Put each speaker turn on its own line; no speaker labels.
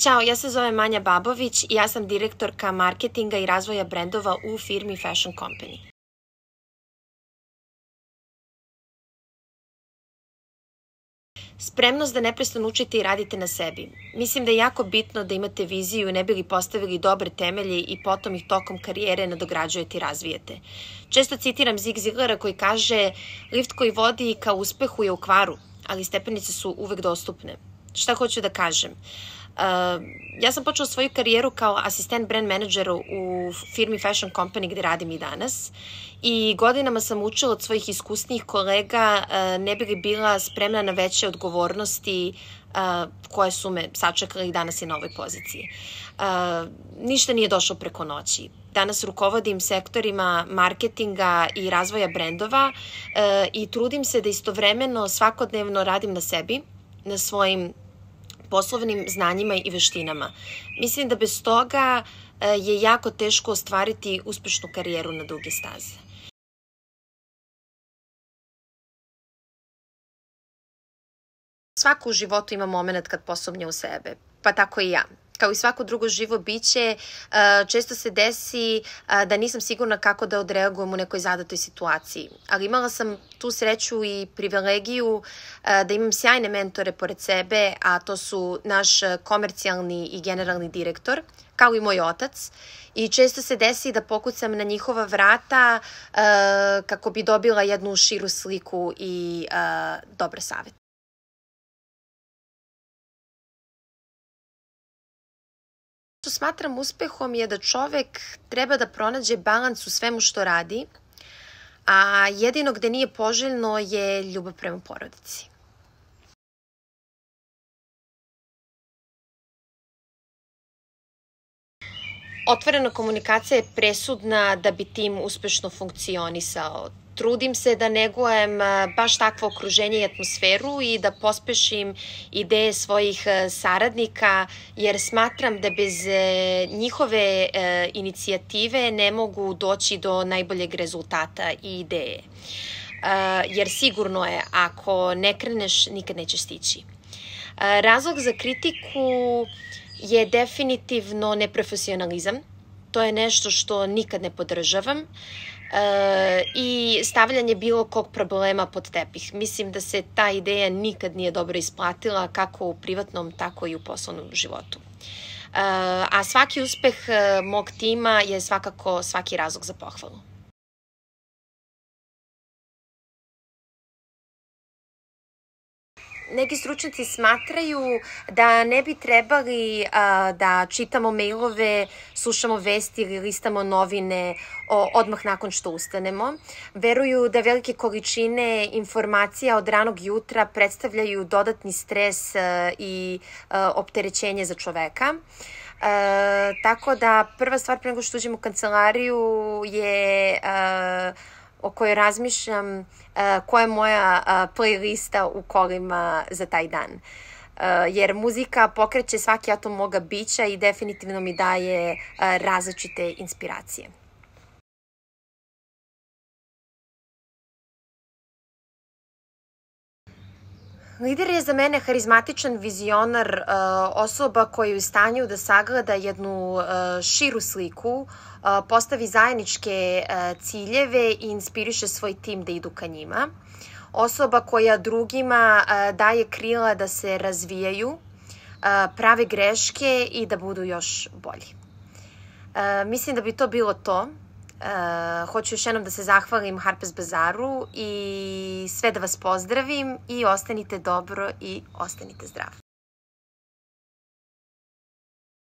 Ćao, ja se zovem Manja Babović i ja sam direktorka marketinga i razvoja brendova u firmi Fashion Company. Spremnost da neprestano učite i radite na sebi. Mislim da je jako bitno da imate viziju ne bi li postavili dobre temelje i potom ih tokom karijere nadograđujete i razvijete. Često citiram Zig Ziglera koji kaže: lift koji vodi ka uspehu je u kvaru, ali stepenice su uvek dostupne. Šta hoću da kažem? Ja sam počela svoju karijeru kao asistent brand menadžera u firmi Fashion Company gde radim i danas i godinama sam učila od svojih iskusnijih kolega ne bi li bila spremna na veće odgovornosti koje su me sačekale i danas i na ovoj poziciji. Ništa nije došlo preko noći. Danas rukovodim sektorima marketinga i razvoja brendova i trudim se da istovremeno svakodnevno radim na sebi, na svojim poslovnim znanjima i veštinama. Mislim da bez toga je jako teško ostvariti uspešnu karijeru na duge staze. Svako u životu ima moment kad posumnja u sebe, pa tako i ja. Kao i svako drugo živo biće, često se desi da nisam sigurna kako da odreagujem u nekoj zadatoj situaciji. Ali imala sam tu sreću i privilegiju da imam sjajne mentore pored sebe, a to su naš komercijalni i generalni direktor, kao i moj otac. I često se desi da pokucam na njihova vrata kako bi dobila jednu širu sliku i dobre savete. Što smatram uspehom je da čovek treba da pronađe balans u svemu što radi, a jedino gde nije poželjno je ljubav prema porodici. Otvorena komunikacija je presudna da bi tim uspešno funkcionisao. Trudim se da negujem baš takvo okruženje i atmosferu i da pospešim ideje svojih saradnika, jer smatram da bez njihove inicijative ne mogu doći do najboljeg rezultata i ideje. Jer sigurno je, ako ne kreneš, nikad nećeš stići. Razlog za kritiku je definitivno neprofesionalizam. To je nešto što nikad ne podržavam. I stavljanje bilo kog problema pod tepih. Mislim da se ta ideja nikad nije dobro isplatila kako u privatnom, tako i u poslovnom životu. A svaki uspeh mog tima je svakako svaki razlog za pohvalu. Neki stručnjaci smatraju da ne bi trebali da čitamo mailove, slušamo vesti ili listamo novine odmah nakon što ustanemo. Veruju da velike količine informacija od ranog jutra predstavljaju dodatni stres i opterećenje za čoveka. Tako da prva stvar pre nego što uđem u kancelariju je o kojoj razmišljam koja je moja playlista u kolima za taj dan. Jer muzika pokreće svaki atom moga bića i definitivno mi daje različite inspiracije. Lider je za mene harizmatičan vizionar, osoba koja je u stanju da sagleda jednu širu sliku, postavi zajedničke ciljeve i inspiriše svoj tim da idu ka njima. Osoba koja drugima daje krila da se razvijaju, prave greške i da budu još bolji. Mislim da bi to bilo to. Hoću još jednom da se zahvalim Harpers Bazaru i sve da vas pozdravim i ostanite dobro i ostanite zdravi.